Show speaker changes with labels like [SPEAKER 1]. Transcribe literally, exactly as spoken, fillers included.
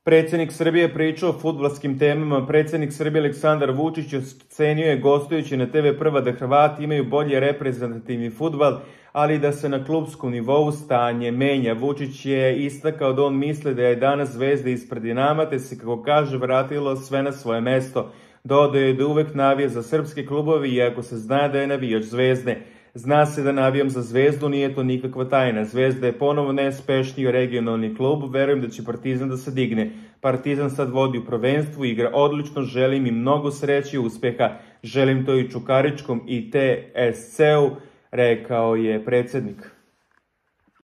[SPEAKER 1] Predsjednik Srbije pričao o fudbalskim temama. Predsjednik Srbije Aleksandar Vučić ocenio je gostujući na te ve Prva da Hrvati imaju bolje reprezentativni fudbal, ali da se na klupskom nivou stanje menja. Vučić je istakao da on misli da je danas Zvezda ispred Dinama, te se, kako kaže, vratilo sve na svoje mesto. Dodao je da uvek navija za srpske klubovi, iako se zna da je navijač Zvezde. Zna se da navijam za Zvezdu, nije to nikakva tajna. Zvezda je ponovo najuspešniji regionalni klub, verujem da će Partizan da se digne. Partizan sad vodi u prvenstvu, igra odlično, želim im mnogo sreće i uspeha. Želim to i Čukaričkom i te es ce u, rekao je predsjednik.